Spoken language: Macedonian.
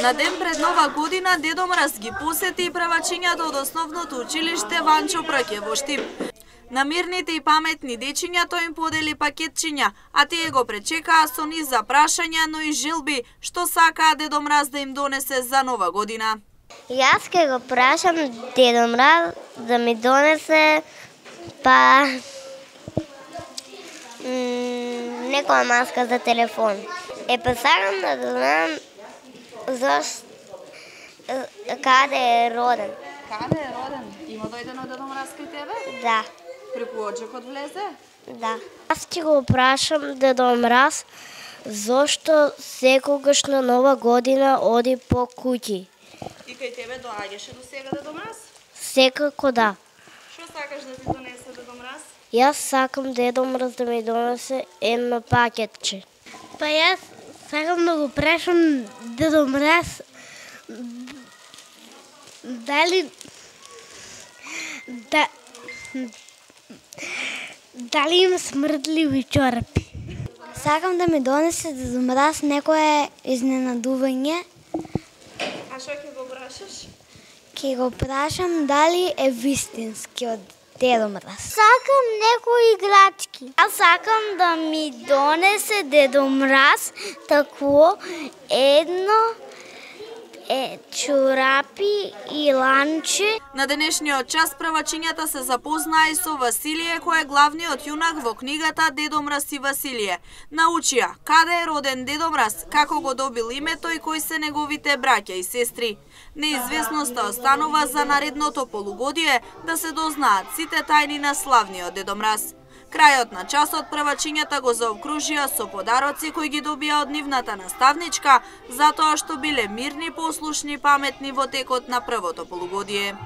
На ден пред Нова година Дедо Мраз ги посети и првачињата од основното училиште Ванчо Праќе во Штип. На мирните и паметни дечиња тој им подели пакетчиња, а тие го пречекаа со низ за прашања, но и желби што сакаа Дедо Мраз да им донесе за Нова година. Јас ке го прашам Дедо Мраз да ми донесе некоја маска за телефон. Сакам да знам каде е роден. Каде е роден? Има дојдено Дедо Мраз кај тебе? Да. Преку оджакот влезе? Да. Јас ќе го прашам Дедо Мраз зошто секогаш на Нова година оди по куќи. И кај тебе доаѓаше до сега Дедо Мраз? Секако да. Што сакаш да ти донесе Дедо Мраз? Јас сакам Дедо Мраз да ми донесе едно пакетче. Јас сакам да го прашам Дедо Мраз дали им смрдливи чорапи. Сакам да ми донесе Дедо Мраз некое изненадување. А што ќе го прашаш? Ќе го прашам дали е вистински од Дедо Мраз. Сакам некои играчки. Аз сакам да ми донесе Дедо Мраз такво едно чорапи и ланче. На денешниот час првачињата се запознаа и со Василие, кој е главниот јунак во книгата Дедо Мраз и Василие. Научија каде е роден Дедо Мраз, како го добил името и кои се неговите браќа и сестри. Неизвестноста останува за наредното полугодие да се дознаат сите тајни на славниот Дедо Мраз. Крајот на часот првачињата го заокружија со подароци кои ги добија од нивната наставничка, затоа што биле мирни, послушни, паметни во текот на првото полугодие.